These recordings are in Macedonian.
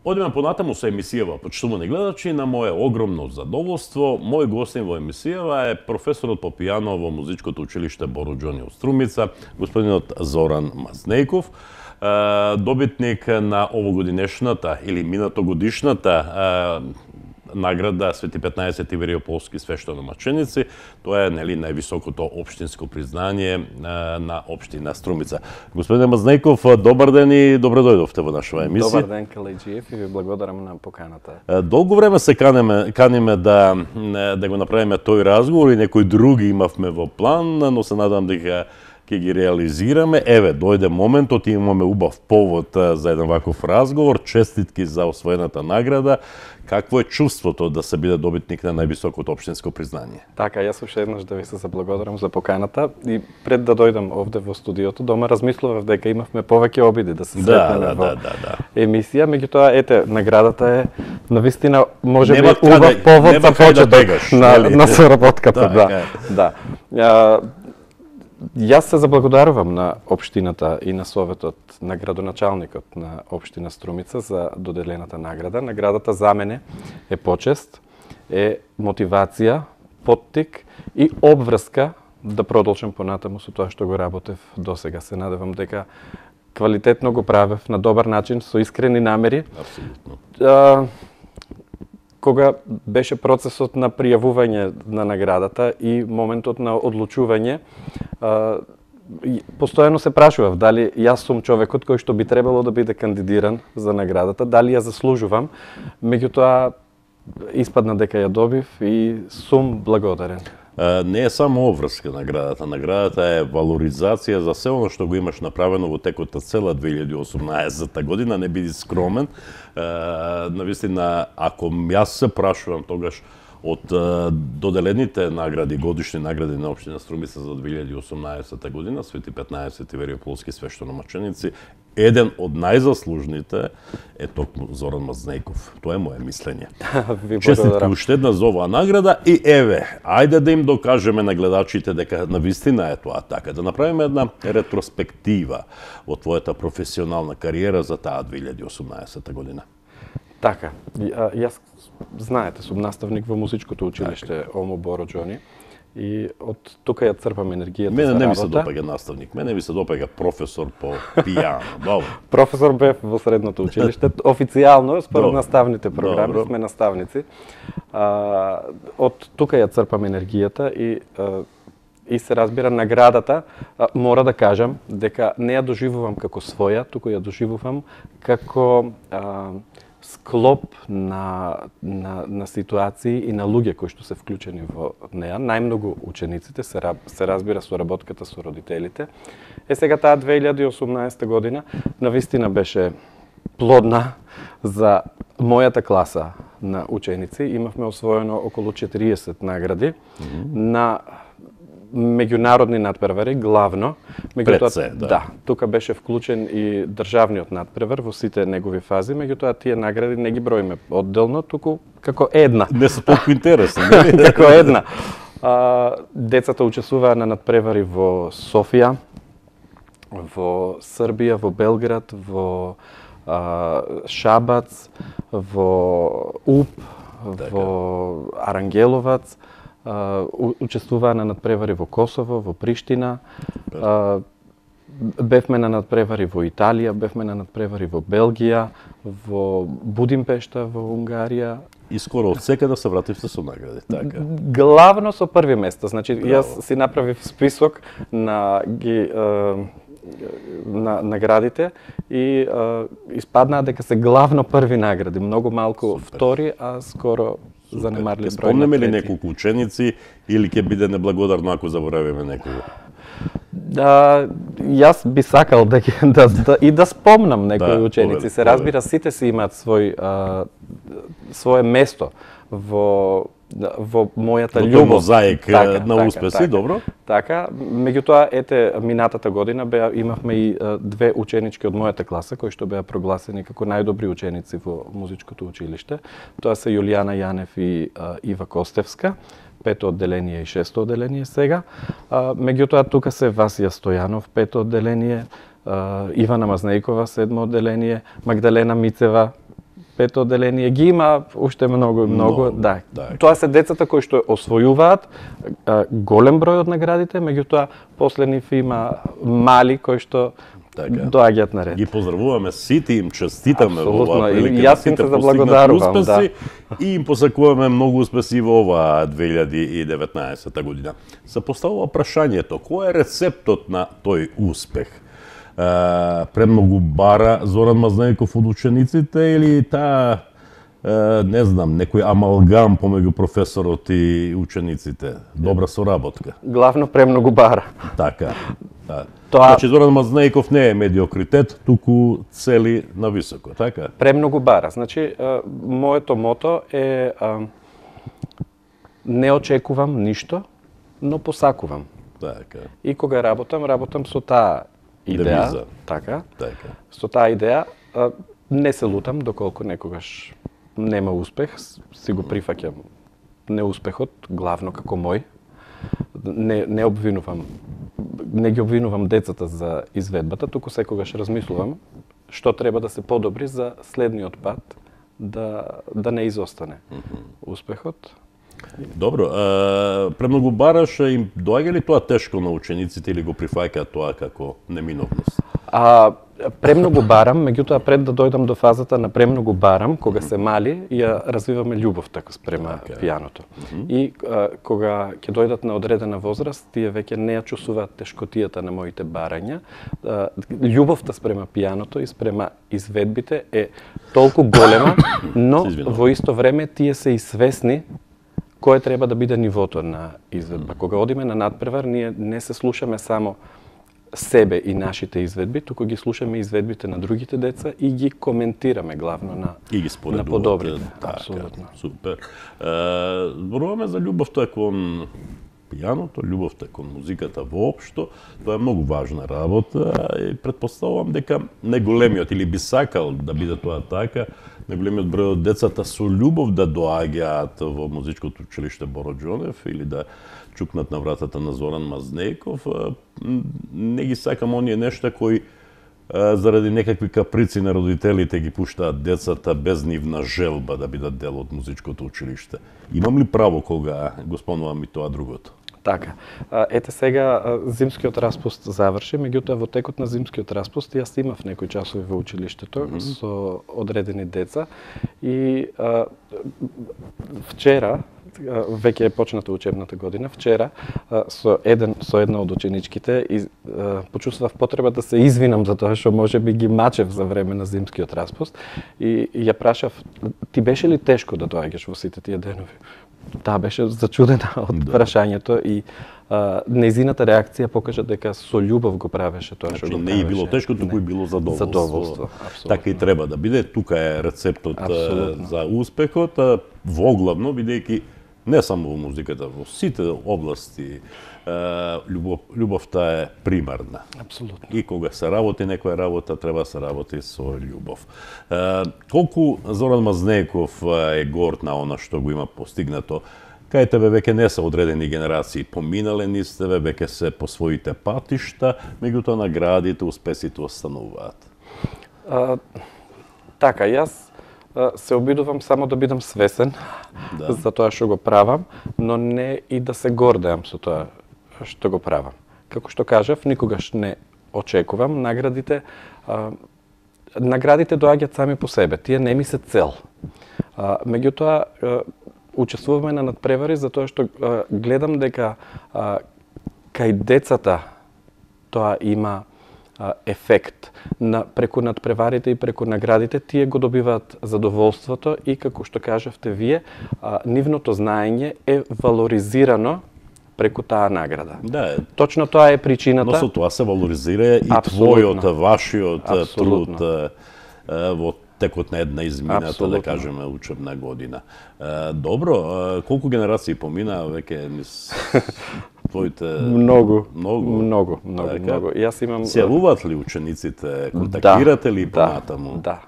Одиме понатаму со емисијава, почитувани гледачи, на мое огромно задоволство. Мој гостин во емисијава е професорот по пијано во Музичкото училиште Боро Џони од Струмица, господинот Зоран Мазнејков, добитник на овогодинешната или минатогодишната награда Свети 15 Ивериополски свештеномаченици. Тоа е највисокото општинско признание на општина Струмица. Господине Мазнејков, добар ден и добро дојдовте во нашава емисија. Добар ден, Калеџиев, и ви благодарам на поканата. Долго време се каниме да го направиме тој разговор и некои други имавме во план, но се надам дека ќе ги реализираме. Еве, дојде моментот и имаме убав повод за еден ваков разговор. Честитки за освоената награда. Какво е чувството да се биде добитник на највисокото општинско признание? Така, јас уште еднаш да ви се заблагодарам за поканата и пред да дојдам овде во студиото, дома размислував дека имавме повеќе обиди да се сретнеме во емисија, меѓутоа ете наградата е навистина можеби убав повод за почеток на соработката, да. Јас се заблагодарувам на општината и на советот на градоначалникот на општина Струмица за доделената награда. Наградата за мене е почест, е мотивација, поттик и обврска да продолжам понатаму со тоа што го работев досега. Се надевам дека квалитетно го правев на добар начин, со искрени намери. Апсолутно. Кога беше процесот на пријавување на наградата и моментот на одлучување, постојано се прашував дали јас сум човекот кој што би требало да биде кандидиран за наградата, дали ја заслужувам, меѓутоа испадна дека ја добив и сум благодарен. Не е само обврска наградата. Наградата е валоризација за се оно што го имаш направено во текот на цела 2018 година. Не биди скромен. Навистина, ако јас се прашувам тогаш од доделените награди, годишни награди на општина Струмица за 2018 година, Свети 15 Ивериополски свештеномаченици, еден од најзаслужните е токму Зоран Мазнејков. Тоа е моје мислење. Честитки уште една за оваа награда и еве, ајде да им докажеме на гледачите дека навистина е тоа така, да направиме една ретроспектива во твојата професионална кариера за таа 2018 година. Така, јас, знаете, сум наставник во Музичкото училиште ОМУ Боро Џони и од тука ја црпам енергијата за работа. Мене не ми се допаѓа наставник, мене ми се допаѓа професор по пијано. Добро. Професор бев во средното училиште, официјално, според наставните програми, сме наставници. Од тука ја црпам енергијата и се разбира наградата, мора да кажам дека не ја доживувам како своја, туку ја доживувам како склоп на ситуации и на луѓе кои што се вклучени во неа, најмногу учениците, се разбира соработката со родителите. Сега таа 2018 година навистина беше плодна за мојата класа на ученици. Имавме освоено околу 40 награди на меѓународни надпревари, главно. Да, тука беше вклучен и државниот надпревар во сите негови фази, меѓутоа тие награди не ги броиме одделно, туку како една. Не се толку интересни. Како една. Децата учесуваа на надпревари во Софија, во Србија, во Белград, во Шабац, во Уб, во Арангеловац, учествуваа на надпревари во Косово, во Приштина, бевме на надпревари во Италија, бевме на надпревари во Белгија, во Будимпешта, во Унгарија. И скоро од секаде се вративте со награди, така? Главно со први место. Значи, јас си направив список на наградите и испаднаа дека се главно први награди, многу малку втори, а скоро занемарлив број. Спомнеме ли неколку ученици или ќе биде неблагодарно ако заборавиме некого? Јас би сакал да спомнам некои ученици. Се разбира, сите си имаат свое место во мојата љубов. Мозаик на успеси, добро? Така, меѓутоа, ете, минатата година имавме и две ученички од мојата класа, кои што беа прогласени како најдобри ученици во Музичкото училиште. Тоа се Јулијана Јанев и Ива Костевска, 5-то одделение и 6-то одделение сега. Меѓутоа, тука се Васија Стојанов, 5-то одделение, Ивана Мазнејкова, 7-то одделение, Магдалена Мицева, пето одделение ги има уште многу. Да. Тоа се децата кои што освојуваат голем број од наградите, меѓутоа после нив има мали кои што доаѓаат на ред. Ги поздравуваме сите, им честитаме во оваа прилика. Јас им се заблагодарувам, и им посакуваме многу успеси во оваа 2019 година. Се поставува прашањето, кој е рецептот на тој успех? Премногу бара Зоран Мазнејков од учениците или таа не знам, некој амалгам помеѓу професорот и учениците? Добра соработка. Главно премногу бара. Така. Значи Зоран Мазнејков не е медиокритет, туку цели на високо, така? Премногу бара. Значи, моето мото е не очекувам ништо, но посакувам. Така. И кога работам со таа идеја, Девиза. така. Со Така. таа идеја не се лутам доколку некогаш нема успех, си го прифаќам неуспехот главно како мој. Не обвинувам, не ги обвинувам децата за изведбата, туку секогаш размислувам што треба да се подобри за следниот пат да не изостане успехот. Добро, премногу бараш, им доаѓа ли тоа тешко на учениците или го прифаќаат тоа како неминовност? Премногу барам, меѓутоа пред да дојдам до фазата на премногу барам, кога се мали, ја развиваме љубовта спрема пијаното. И кога ќе дојдат на одредена возраст, тие веќе не ја чувствуваат тешкотијата на моите барања. Љубовта спрема пијаното и спрема изведбите е толку голема, но во исто време тие се и свесни кој треба да биде нивото на изведба. Кога одиме на надпревар, ние не се слушаме само себе и нашите изведби, туку ги слушаме изведбите на другите деца и ги коментираме главно на подобрите. Апсолутно. Супер. Зборуваме за љубовта кон пијаното, љубовта кон музиката воопшто. Тоа е многу важна работа и претпоставувам дека најголемиот или би сакал да биде тоа така, најголемиот број од децата со љубов да доаѓаат во музичкото училиште Боро Џонев или да чукнат на вратата на Зоран Мазнејков. Не ги сакам оние нешта кои заради некакви каприци на родителите ги пуштаат децата без нивна желба да бидат дел од музичкото училиште. Имам ли право кога го спомнувам и тоа другото? Така. Ете сега зимскиот распуст заврши, меѓутоа во текот на зимскиот распуст јас имав некои часови во училиштето со одредени деца и вчера, веќе е почната учебната година, вчера со една од ученичките почувствував потреба да се извинам за тоа што можеби ги мачев за време на зимскиот распуст и ја прашав: ти беше ли тешко да доаѓаш во сите тие денови? Да, беше зачудена од прашањето и нејзината реакција покажа дека со љубов го правеше тоа што го правеше. Не е било тешко, туку и било задоволство. Така и треба да биде. Тука е рецептот за успехот, воглавно бидејќи не само во музиката, во сите области љубовта е примарна. Апсолутно. И кога се работи некоја работа, треба да се работи со љубов. Колку Зоран Мазнејков е горд на она што го има постигнато, кај тебе веќе не се одредени генерации поминале низ тебе, веќе се по своите патишта, меѓутоа наградите, успесите остануваат. Така, јас се обидувам само да бидам свесен за тоа што го правам, но не и да се гордеам со тоа што го правам. Како што кажав, никогаш не очекувам наградите. Наградите доаѓаат сами по себе, тие не ми се цел. Меѓутоа, учествуваме на надпревари затоа што гледам дека кај децата тоа има ефект. Преку надпреварите и преку наградите тие го добиваат задоволството и, како што кажавте вие, нивното знаење е валоризирано преку таа награда. Да, точно тоа е причината. Но со тоа се валоризира и твојот, вашиот труд во текот на една измината, да кажеме, учебна година. Добро, колку генерации помина веќе низ твоите... Многу. Јас имам... Се јавуваат ли учениците, контактирате ли понатаму? Да.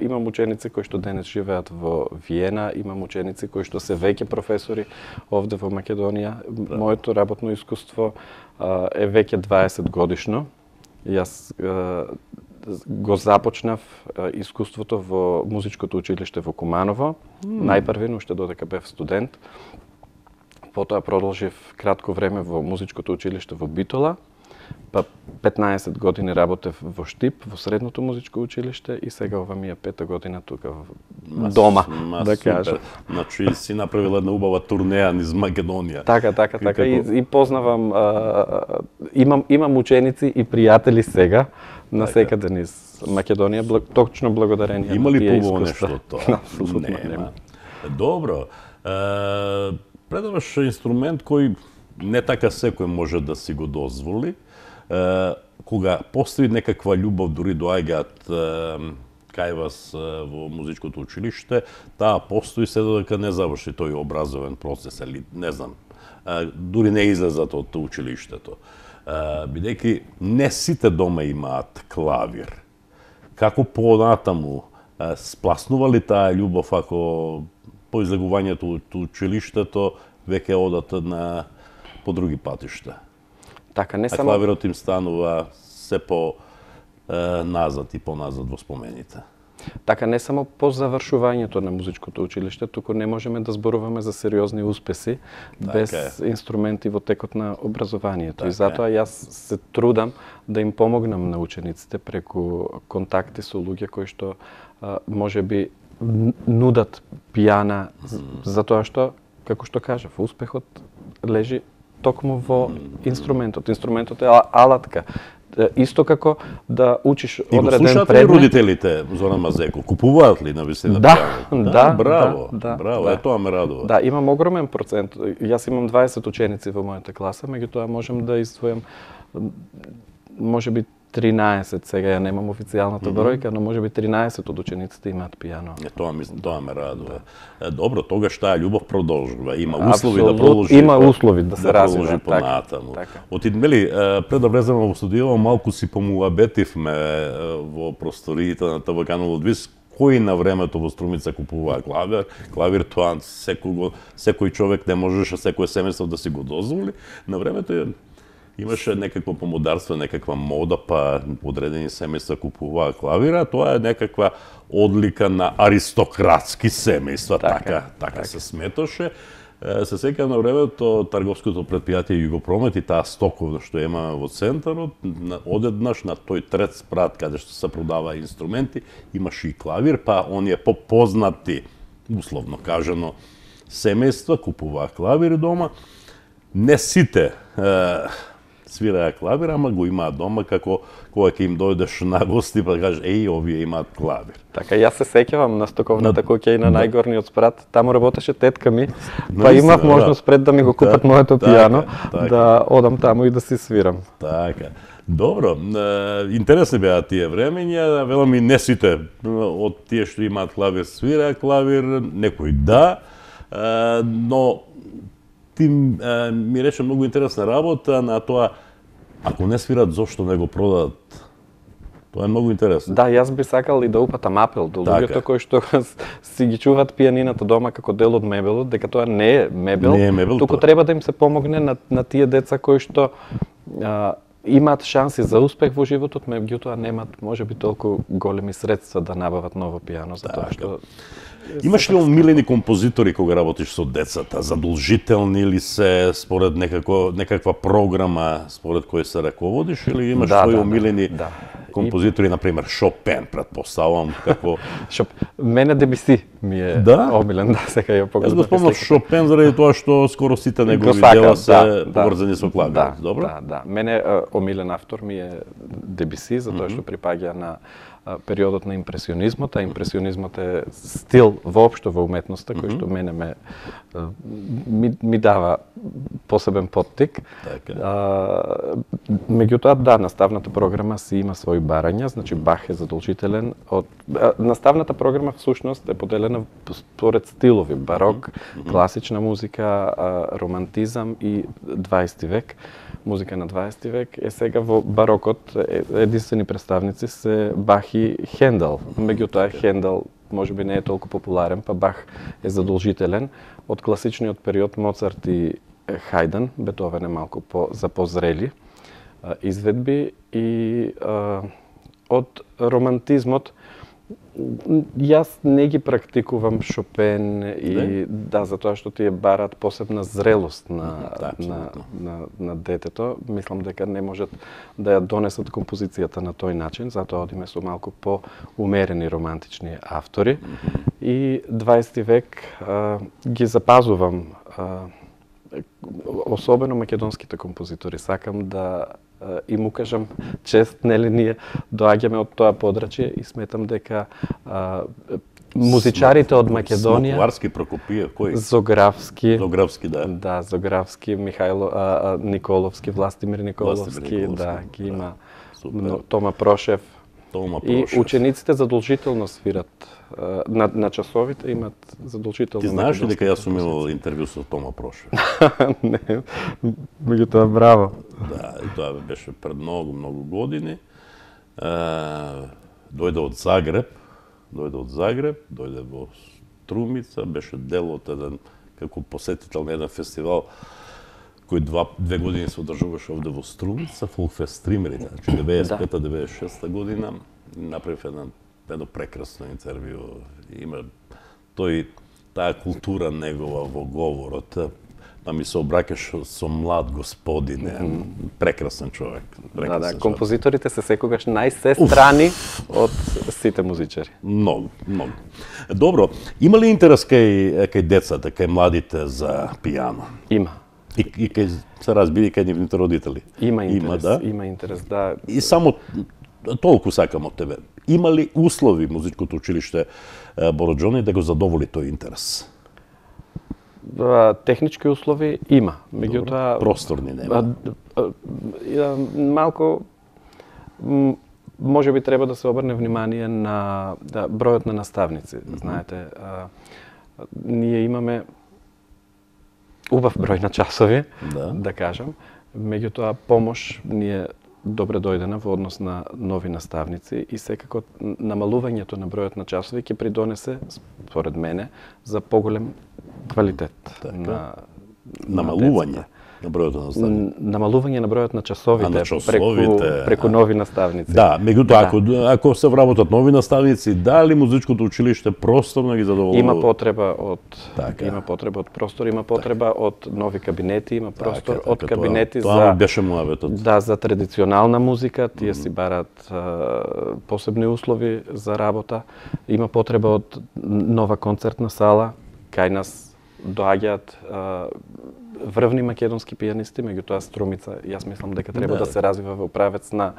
Имам ученици кои што денес живеат во Виена, имам ученици кои што се веќе професори овде во Македонија. Моето работно искуство е веќе 20 годишно. Јас го започнав искуството во музичкото училиште во Куманово. Најпрви, уште додека бев студент. Потоа продолжив кратко време во музичкото училиште во Битола. Па 15 години работев во Штип, во средното музичко училиште и сега ова ми е 5-та година тука дома, да кажам. Значи си направила една убава турнеја низ Македонија. Така и познавам имам ученици и пријатели сега насекаде низ Македонија, точно благодарение има на ли тие побоно искуства. нешто тоа? Нема. Добро. Предаваш инструмент кој не така секој може да си го дозволи. Кога постои некаква љубов, дури доаѓаат кај вас во музичкото училиште, таа постои се додека не заврши тој образовен процес, или не знам, дури не излезат од училиштето. Бидејќи не сите дома имаат клавир. Како понатаму спласнува ли таа љубов ако по излегувањето од училиштето веќе одат по други патишта? Така, не само... клавирот им станува се по назад и поназад во спомените. Така, не само по завршувањето на музичкото училиште, туку не можеме да зборуваме за сериозни успеси без инструменти во текот на образованието. И затоа јас се трудам да им помогнам на учениците преку контакти со луѓе кои што можеби нудат пијана, затоа што, како што кажав, успехот лежи токму во инструментот. Инструментот е алатка. Исто како да учиш одреден предмет. И го слушаат ли родителите, Зоран Мазеко? Купуваат ли навистина пијано? Да, браво, тоа ме радува. Да, имам огромен процент. Јас имам 20 ученици во мојата класа, меѓутоа можам да издвојам можеби 13, сега ја немам официјалната бројка, но можеби 13 од учениците имаат пијано. Тоа ме радува. Добро, тогаш таа љубов продолжува. Има услови да продолжи. Има услови да се развива понатаму. Мели, пред да влеземе во студио, малку си помуабетивме во просториите на ТВ-канал Одвис, кои на времето во Струмица купуваа клавир. Клавир тоа секој човек не можеше, секој семејство да си го дозволи. На времето имаше некакво помодарство, некаква мода, па одредени семејства купуваа клавира. Тоа е некаква одлика на аристократски семејства, така се сметоше. Се сеќавам на времето трговското претпријатие Југопромет и таа стоковна што имаме во центарот, одеднаш на тој трет спрат каде што се продава инструменти, имаше и клавир, па оние попознати, условно кажано, семејства купуваа клавири дома. Не сите свираа клавир, ама го имаат дома како кога ќе им дојдеш на гости па кажеш еј, овие имаат клавир. Така, јас се сеќавам на стоковната куќа и на најгорниот спрат, таму работеше тетка ми, па имав можност пред да ми го купат моето пијано, да одам таму и да си свирам. Така. Добро, интересни беа тие времења, велам и не сите од тие што имаат клавир свираа клавир, некој да, но ти ми рече многу интересна работа на тоа, ако не свират, зошто не го продадат? Тоа е многу интересно. Да, јас би сакал и да упатам апел до луѓето кои што си ги чуваат пијанината дома како дел од мебелот, дека тоа не е мебел, туку треба да им се помогне на тие деца кои што имаат шанси за успех во животот, меѓутоа немаат можеби толку големи средства да набават ново пијано, затоа што имаш ли омилени композитори кога работиш со децата? Задолжителни ли се според некаква програма според која се раководиш или имаш своји омилени композитори, например Шопен, претпоставувам како Мене Дебиси ми е омилен, сега ја погледам. Јас го спомнав Шопен заради тоа што скоро сите негови дела се поврзани со клавир. Добро? Да. Мене омилен автор ми е Дебиси, затоа што припаѓа на периодот на импресионизмот, а импресионизмот е стил воопшто во уметноста кој што мене ми дава посебен поттик. Меѓутоа, да, наставната програма си има своји барања, значи Бах е задолжителен. Наставната програма всушност е поделена според стилови: барок, класична музика, романтизам и 20 век. Музика на 20 век е сега во барокот единствени представници се Бах и Хендел. Меѓутоа Хендел можеби не е толку популарен, па Бах е задолжителен. Од класичниот период Моцарт и Хајден, Бетовен е малку за позрели изведби и од романтизмот, јас не ги практикувам Шопен и да, затоа што тие барат посебна зрелост на детето. Мислам дека не можат да ја донесат композицијата на тој начин, затоа одиме со малку по-умерени романтични автори. И 20 век ги запазувам, особено македонските композитори. Сакам да им укажам чест, нели, ние доаѓаме од тоа подрачје и сметам дека музичарите од Македонија, Смоковарски, Прокопиев, кој? Зографски, да. Да, Зографски, Михајло Николовски, Властимир Николовски, да, ги има Тома Прошев. И учениците задолжително свират на часовите, имат задолжително. Ти знаеш ли дека јас сум имал интервју со Тома Прошев? Не, меѓутоа браво. Да, и тоа беше пред многу години. Дојде од Загреб, дојде во Струмица, беше дел од еден, како посетител на еден фестивал кој 2 години се одржуваше овде во Струмица, Фолкфест Стримери, значи 95-96 година, направив едно прекрасно интервју. Има таа култура негова во говорот, па ми се обраќаш со млад господин, прекрасен човек. Да, композиторите се секогаш најсестрани од сите музичари. Многу. Добро, има ли интерес кај децата, кај младите за пијано? Има. И кај се разбира кај нивните родители? Има интерес, да. И само толку сакам од тебе. Има ли услови музичкото училиште Боро Џони да го задоволи тој интерес? Технички услови има, меѓутоа просторни нема. Малку можеби треба да се обрне внимание на бројот на наставници. Знаете, ние имаме убав број на часови, да кажам, меѓутоа помош ни е добре дојдена во однос на нови наставници и секако намалувањето на бројот на часови ќе придонесе, според мене, за поголем квалитет на намалување на бројот на наставници. Намалување на бројот на часовите преку нови наставници. Да, меѓутоа ако се вработат нови наставници, дали музичкото училиште просторно ги задоволува? Има потреба од простор, има потреба од нови кабинети, има простор од кабинети тоа беше муаветот. Да, за традиционална музика, тие си барат посебни услови за работа, има потреба од нова концертна сала, кај нас доаѓаат врвни македонски пијанисти, меѓутоа Струмица, јас мислам дека треба да се развива во правец на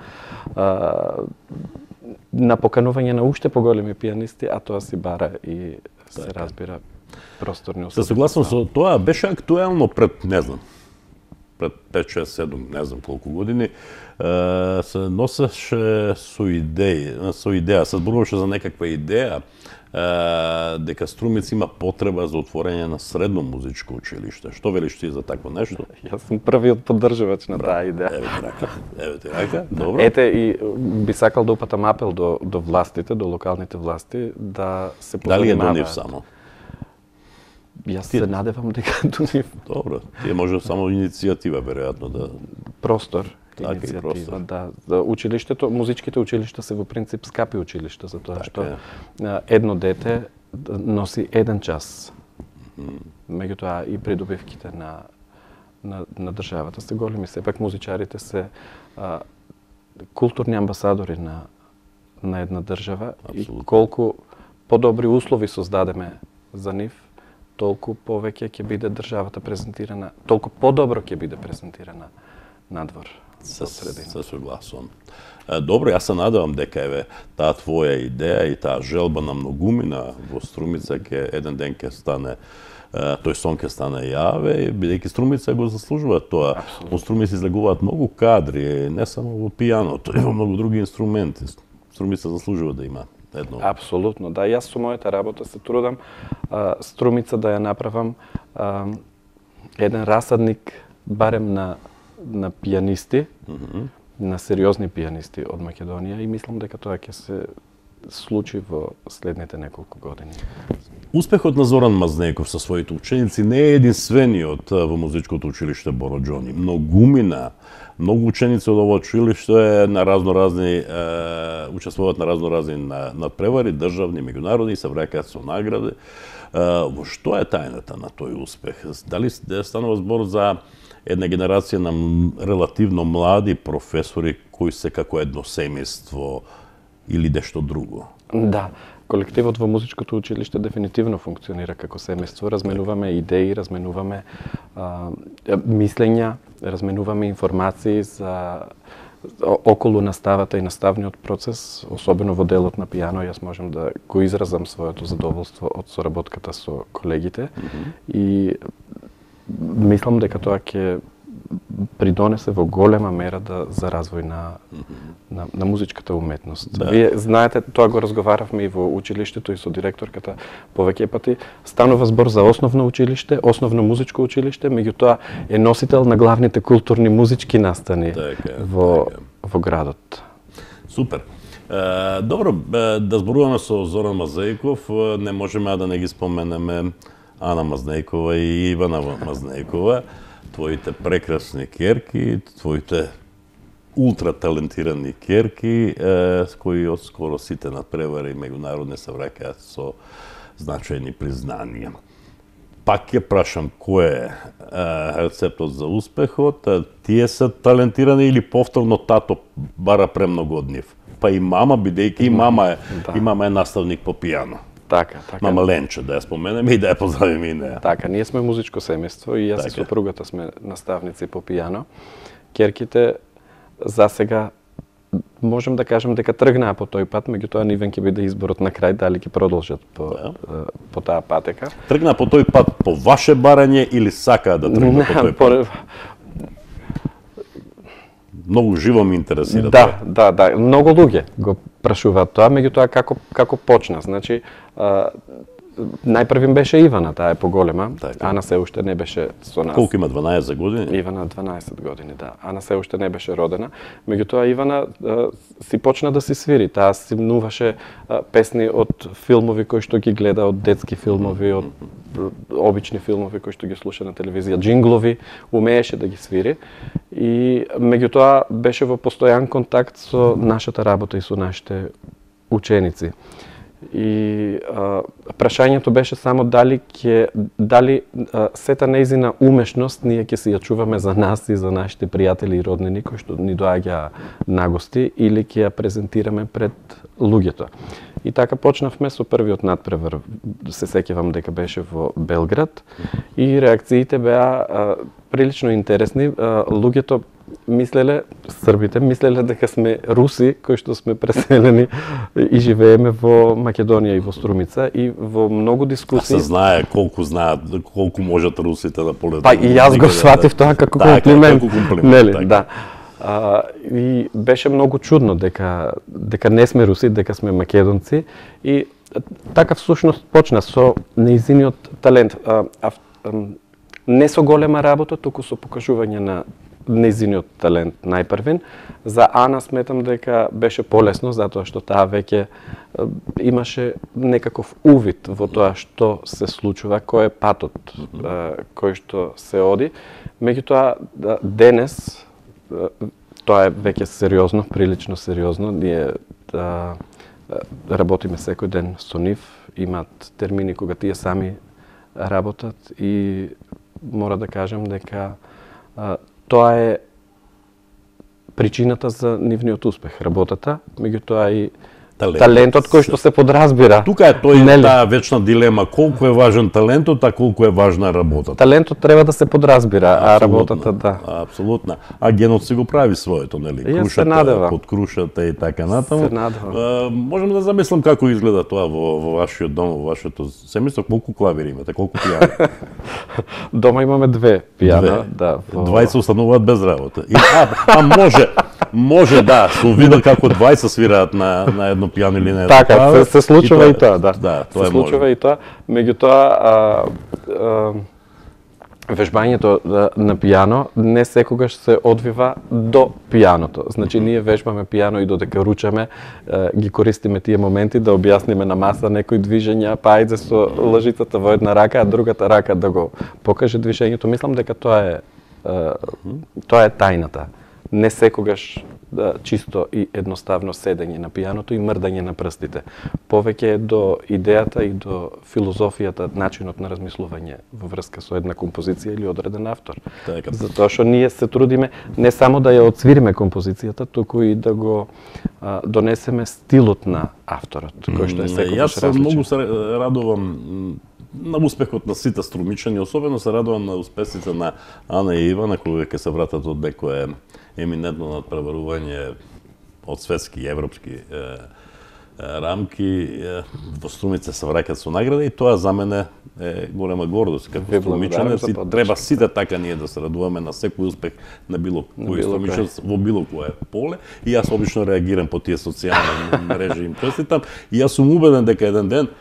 поканување на уште поголеми пијанисти, а тоа си бара и се разбира просторни услови. Се согласувам со тоа, беше актуелно пред 5, 6, 7, не знам колку години, се носеше со идеја, се зборуваше за некаква идеја, дека Струмица има потреба за отворање на средно музичко училиште. Што велиш ти за такво нешто? Јас сум првиот поддржувач на таа идеја. Еве ти рака, добро. Ете, и би сакал да упатам апел до властите, до локалните власти, да се позанимаваат. Дали е до нив само? Јас се надевам дека до нив. Добро, тие може само иницијатива, веројатно, да... Простор. Иницијатива, да. Училиштето, музичките училишта се во принцип скапи училишта, затоа што едно дете носи 1 час. Меѓутоа и придобивките на државата се големи. Сепак музичарите се културни амбасадори на една држава. Абсолютно. И колку подобри услови создадеме за нив, толку повеќе ќе биде државата презентирана, толку подобро ќе биде презентирана надвор. Се согласувам. Добро, јас се надевам дека еве таа твоја идеја и таа желба на многумина во Струмица еден ден ќе стане, тој сон ќе стане јаве, бидејќи Струмица го заслужува тоа. Во Струмица излегуваат многу кадри, не само во пијаното, и во многу други инструменти. Струмица заслужува да има едно. Апсолутно, да. Јас со мојата работа се трудам Струмица да ја направам еден расадник барем на пијанисти, на сериозни пијанисти од Македонија и мислам дека тоа ќе се случи во следните неколку години. Успехот на Зоран Мазнејков со своите ученици не е единствениот во музичкото училиште Боро Џони. Многу ученици од овој училиште на разноразни учествуваат на разноразни надпревари, државни, меѓународни, се враќаат со награди. Во што е тајната на тој успех? Дали станува збор за една генерација на релативно млади професори кои се како едно семејство или нешто друго? Да, колективот во музичкото училиште дефинитивно функционира како семејство. Разменуваме идеи, разменуваме мислења, разменуваме информации за околу наставата и наставниот процес, особено во делот на пијано. Јас можам да го изразам своето задоволство од соработката со колегите и мислам дека тоа ќе придонесе во голема мера за развој на музичката уметност. Да. Вие знаете, тоа го разговаравме и во училиштето и со директорката повеќе пати. Станува збор за основно училиште, основно музичко училиште, меѓутоа е носител на главните културни музички настани во градот. Супер. Добро, да зборуваме со Зоран Мазнејков, не можеме да не ги споменеме Ана Мазнејкова и Ивана Мазнејкова, твоите прекрасни ќерки, твоите ултра талентирани ќерки, кои од скоро сите надпревари меѓународни се враќаат со значајни признанија. Пак ќе прашам кој е рецептот за успехот? Тие се талентирани или повторно тато бара премногу од нив? Па и мама, бидејќи и мама е наставник по пијано. Така. Мама Ленче, да ја споменеме и да ја поздравиме и неа. Така, ние сме музичко семејство и јас и сопругата сме наставници по пијано. Ќерките за сега можем да кажем дека тргнаа по тој пат, меѓутоа нивен ќе биде изборот на крај дали ќе продолжат по таа патека. Тргнаа по тој пат по ваше барање или сакаа да тргнат по тој пат? Многу живо ме интересира тоа. Да, многу луѓе го прашуваат тоа, меѓутоа како почна. Значи, најпрвим беше Ивана, таа е поголема. Ана се уште не беше со нас. Колку има, 12 години? Ивана 12 години, да. Ана се уште не беше родена. Меѓутоа Ивана си почна да си свири. Таа симнуваше песни од филмови кои што ги гледа, од детски филмови, од обични филмови кои што ги слуша на телевизија, джинглови, умееше да ги свири. И меѓутоа беше во постојан контакт со нашата работа и со нашите ученици. И прашањето беше само дали сета нејзина умешност ние ќе си ја чуваме за нас и за нашите пријатели и роднини кои што ни доаѓа на гости или ќе ја презентираме пред луѓето. И така почнавме со првиот надпревар, се сеќавам дека беше во Белград и реакциите беа прилично интересни. Луѓето мислеле, србите мислеле дека сме руси кои што сме преселени и живееме во Македонија и во Струмица и во многу дискусии. Се знае колку можат русите да полетат. Па и јас го сватив тоа како комплимент. Нели, да. И беше многу чудно дека не сме руси, дека сме македонци и така всушност почна со нејзиниот талент. Не со голема работа, туку со покажување на нејзиниот талент најпрвен. За Ана сметам дека беше полесно, затоа што таа веќе имаше некаков увид во тоа што се случува, кој е патот кој што се оди. Меѓутоа, денес, тоа е веќе сериозно, прилично сериозно, ние работиме секој ден со нив, имаат термини кога тие сами работат и мора да кажам дека тоа е причината за нивниот успех, работата, меѓутоа и талентот кој што се подразбира. Тука е таа вечна дилема, колку е важен талентот, а колку е важна работата. Талентот треба да се подразбира, а работата да. Апсолутно. А генот си го прави своето, нели? Крушата, под крушата и така натаму. Се надевам. Можам да замислам како изгледа тоа во вашиот дом, во вашето семејство, колку клавири имате, колку пијани? Дома имаме 2 пијана, да. 20 остануваат без работа. Може да, со вида како 20 свираат на едно пијано или на едно. Така, се случува и тоа, да. Да, тоа се случува и тоа. Меѓутоа, Вежбањето на пијано не секогаш се одвива до пијаното. Значи, ние вежбаме пијано и додека ручаме, ги користиме тие моменти да објасниме на маса некои движења, па ајде со лъжицата во една рака, а другата рака да го покаже движењето. Мислам дека тоа е тајната. Не секогаш чисто и едноставно седење на пијаното и мрдање на прстите. Повеќе е до идејата и до филозофијата, начинот на размислување во врска со една композиција или одреден автор. Затоа што ние се трудиме не само да ја отсвириме композицијата, туку и да го донесеме стилот на авторот, кој што е секогаш различен. Јас многу се радувам на успехот на сите струмичани, особено се радувам на успесите на Ана и Ивана, кога ќе се вратат од некое еминентно надпреварување од светски и европски рамки, во струмица се враќаат со награда и тоа за мене е голема гордост. Како струмичанец треба сите така ние да се радуваме на секој успех на било кој струмичанец во било кое поле и јас обично реагирам по тие социјални мрежи им честитам и јас сум убеден дека еден ден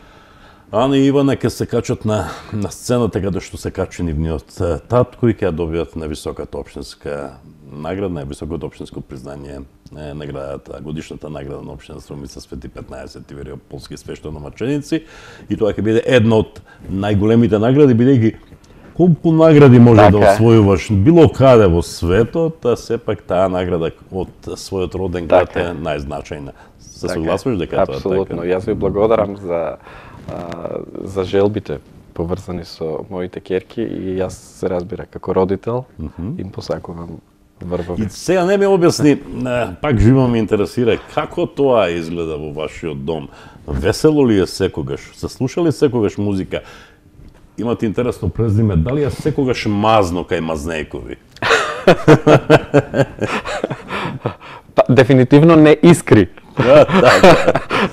Ана и Ивана ќе се качат на сцената каде што се качи нивниот татко и ќе ја добијат највисоката општинска награда, највисокото општинско признање, наградата, годишната награда на општина Струмица Свети 15 Тивериополски свештеnomаченици и тоа ќе биде една од најголемите награди, бидејќи колку награди може да освојуваш било каде во светот, а сепак таа награда од својот роден град е најзначајна. Се согласуваш дека тоа е така? Апсолутно. Јас ви благодарам за желбите поврзани со моите ќерки и јас се разбира како родител им посакувам врвови. И сега не ми објасни, пак живо ме интересира како тоа изгледа во вашиот дом. Весело ли е секогаш? Се слушали секогаш музика? Имате интересно презиме, дали е секогаш мазно кај Мазнејкови? Дефинитивно не искри.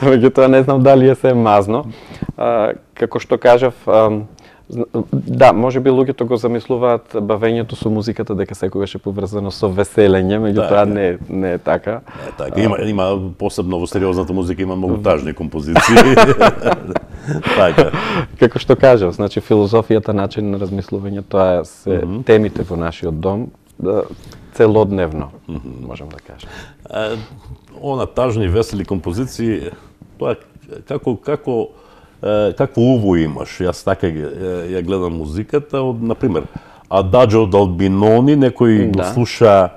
Меѓутоа не знам дали е се мазно. Како што кажав, да, можеби луѓето го замислуваат бавењето со музиката дека секогаш е поврзано со веселење, меѓутоа не е така. Така, има посебно во сериозната музика има многу тажни композиции. Така. Како што кажав, значи филозофијата, начин на размислување, тоа се темите во нашиот дом целодневно, можам да кажам. Она тажни весели композиции, тоа какво уво имаш? Јас така ја гледам музиката, на пример, Ададжо од Албинони, некој го слуша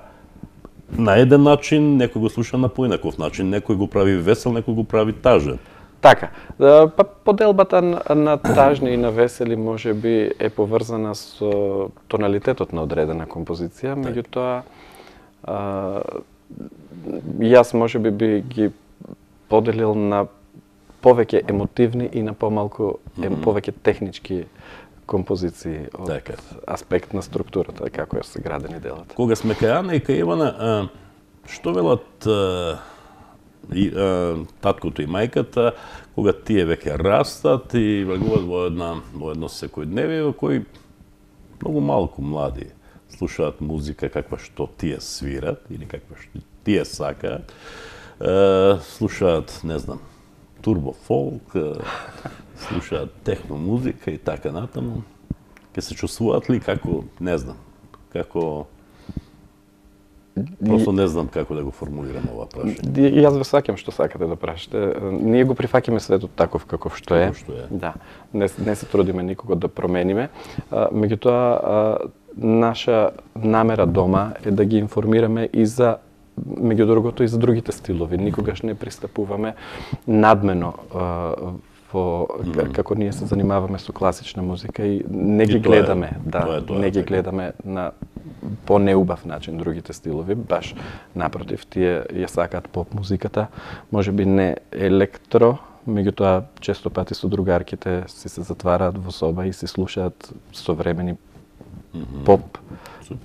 на еден начин, некој го слуша на поинаков начин, некој го прави весел, некој го прави тажен. Така, па поделбата на тажни и на весели можеби е поврзана со тоналитетот на одредена композиција, меѓутоа јас можеби би ги поделил на повеќе емотивни и на помалку повеќе технички композиции од аспект на структурата, како ја се градени делата. Кога сме кај Ана и кај Ивана, што велат таткото и мајката, кога тие веќе растат и влегуваат во едно секојдневие во кој многу малку млади слушаат музика каква што тие свират или каква што тие сакаат, слушаат, не знам, турбо фолк, слушаат техно музика и така натаму. Ке се чувствуваат ли како, не знам, како просто не знам како да го формулирам ова прашање. Јас ве сваќам што сакате да прашате. Ние го прифаќаме светот таков каков што е. Да. Не се трудиме никого да промениме. Меѓутоа наша намера дома е да ги информираме и за меѓу другото и за другите стилови. Никогаш не пристапуваме надмено како ние се занимаваме со класична музика и не ги гледаме, не ги гледаме на по-неубав начин другите стилови, баш напротив, тие ја сакаат поп музиката, можеби не електро, меѓутоа често пати со другарките си се затвараат во соба и си слушаат современи поп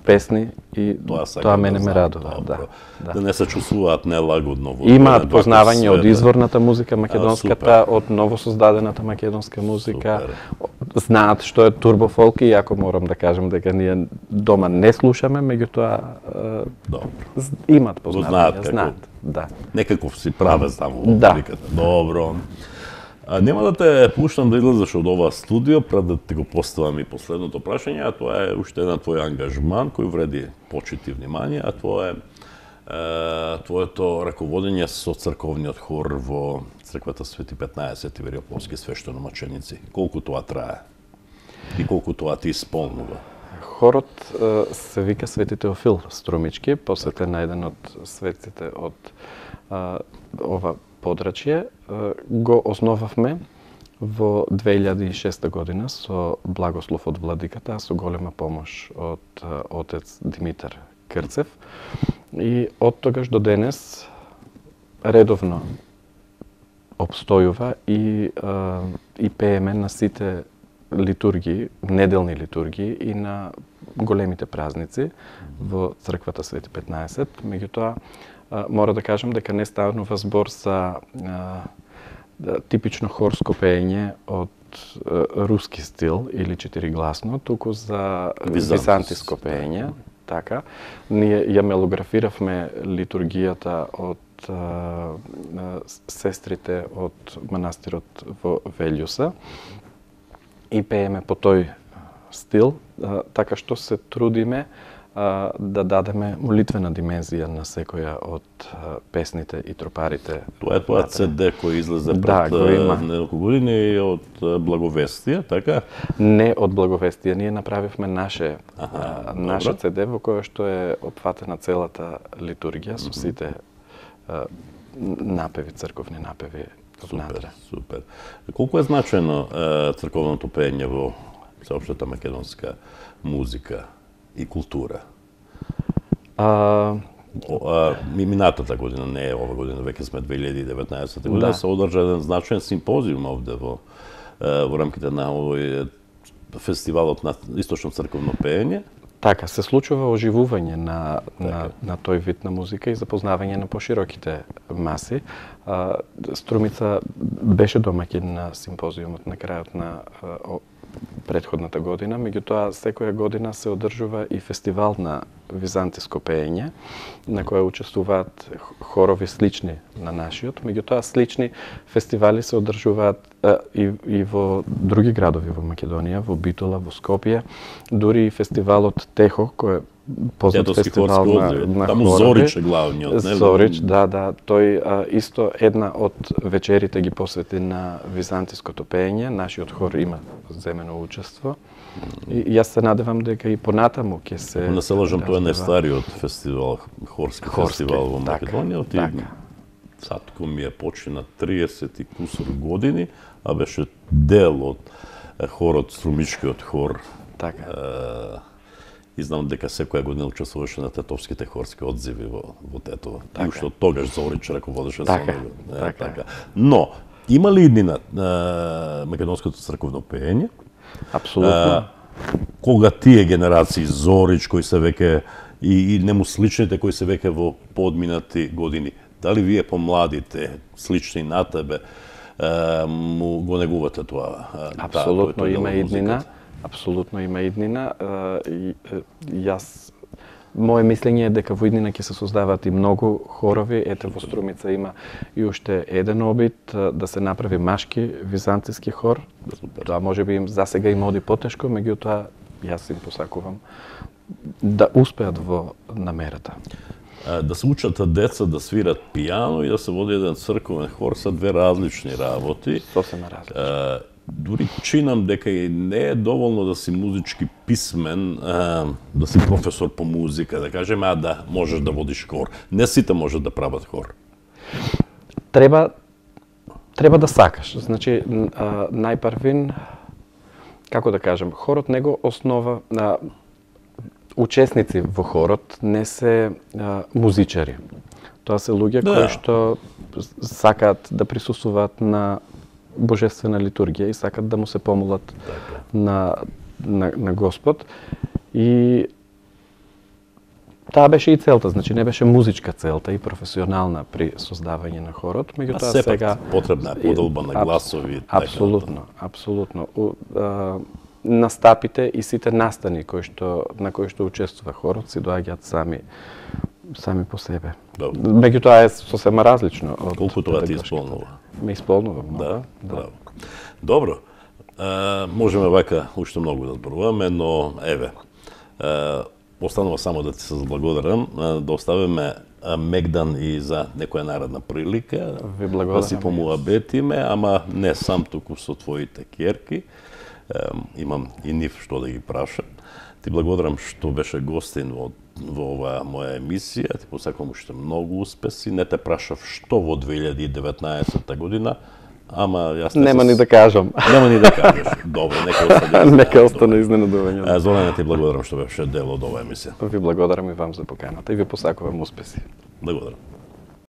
песни и тоа мене ме радува. Да не се чувствуваат нелагодно. Имаат познавање од изворната музика македонската, од новосоздадената македонска музика. Знаат што е турбофолк и ако морам да кажам дека ние дома не слушаме, меѓутоа имаат познавање, знаат. Некаков си правец таму во музиката. Добро. Нема да те пуштам да излезеш од ова студио пред да ти го поставам и последното прашање, а тоа е уште една твој ангажман кој вреди почит и внимание, а тоа е твоето раководење со црковниот хор во црквата Свети 15 Ивериополски свештеномаченици. Колку тоа трае и колку тоа ти исполнува? Хорот се вика Свети Теофил Струмички, посветен на еден од светците од ова подрачје. Го основавме во 2006 година со благослов од владиката, а со голема помош од отец Димитар Крцев. И од тогаш до денес редовно обстојува и пееме на сите литургии, неделни литургии и на големите празници во црквата Свети 15. Меѓутоа, мора да кажам дека не станува збор за типично хорско пеење од руски стил или четиригласно, туку за византиско пеење. Така, ние ја мелографиравме литургијата од сестрите од манастирот во Велјуса и пееме по тој стил, така што се трудиме да дадеме молитвена димензија на секоја од песните и тропарите. Тоа е тоа CD кој излезе пред неколку години од Благовестие, така? Не од Благовестие, ние направивме наше CD во кое што е опфатена целата литургија со сите напеви, црковни напеви внатре. Супер. Колку е значено црковното пеење во сеопштата македонска музика и култура? Минатата година, не ова година, веќе сме 2019 година, се одржа еден значаен симпозиум овде во рамките на овој фестивалот на источно црковно пеење. Така, се случува оживување на тој вид на музика и запознавање на пошироките маси. Струмица беше домаќин на симпозиумот на крајот на предходната година, меѓутоа секоја година се одржува и фестивал на византиско пеење, на која учествуваат хорови слични на нашиот, меѓутоа слични фестивали се одржуваат и во други градови во Македонија, во Битола, во Скопје, дури и фестивалот Техо, кој е познат фестивал на таму Зорич е главниот, не? Зорич, да, тој исто една од вечерите ги посвети на византиското пеење, нашиот хор има земено учество. И јас се надевам дека и понатаму ќе се... Не се лажам, тоа е најстариот фестивал, хорски фестивал во Македонија. Сатко ми е почина 30 и кусор години, а беше дел од хорот, Струмичкиот хор. Така. И знам дека секоја година учествуваше на тетовските хорски одзиви во Тетово. И уште од тогаш Зорич раководеше со него. Така. Но, има ли иднина македонското црковно пеење? Апсолутно. Кога тие генерации Зорич кои се веќе и нему сличните кои се веќе во подминати години, дали вие помладите, слични на тебе, му го негувате тоа? Апсолутно има иднина. Апсолутно има иднина. Моje мислење е дека во иднина ќе се создаваат и многу хорови. Ете, во Струмица има и уште еден обид да се направи машки византиски хор. Тоа можеби им засега им оди потешко, меѓутоа јас им посакувам да успеат во намерата. Да се учат деца да свират пијано и да се води еден црковен хор се две различни работи. Сосема различни. Дури чинам дека и не е доволно да си музички писмен, да си професор по музика, да кажеме, да можеш да водиш хор. Не сите можат да прават хор. Треба да сакаш. Значи, најпрвин, како да кажем, хорот него основа учесници во хорот не се музичари. Тоа се луѓе кои што сакаат да присуствуваат на божествена литургија и сакат да му се помолат на Господ. И таа беше и целта, значи не беше музичка целта и професионална при создавање на хорот, меѓутоа сега потребна е подолба на гласови. Апсолутно. Настапите и сите настани на кои што учествува хорот си доаѓаат сами сами по себе. Добро. Меѓутоа е сосема различно од Колку тоа ти педагошката. исполнува? Ме исполнува многу. Да, браво. Добро. Можеме вака уште многу да зборуваме, но еве, останува само да ти се заблагодарам, да оставиме мегдан и за некоја наредна прилика. Ви благодарам. Да си помуабетиме, ама не сам туку со твоите ќерки. Имам и нив што да ги прашам. Ти благодарам што беше гостин во оваа моја емисија. Ти посакувам уште многу успеси. Не те прашав што во 2019 година, ама јас Нема ни да кажам. Нема ни да кажеш. Добро, нека остане. Нека остане изненадување. Зоране, ти благодарам што беше дел од оваа емисија. Ви благодарам и вам за поканата и ви посакувам успеси. Благодарам.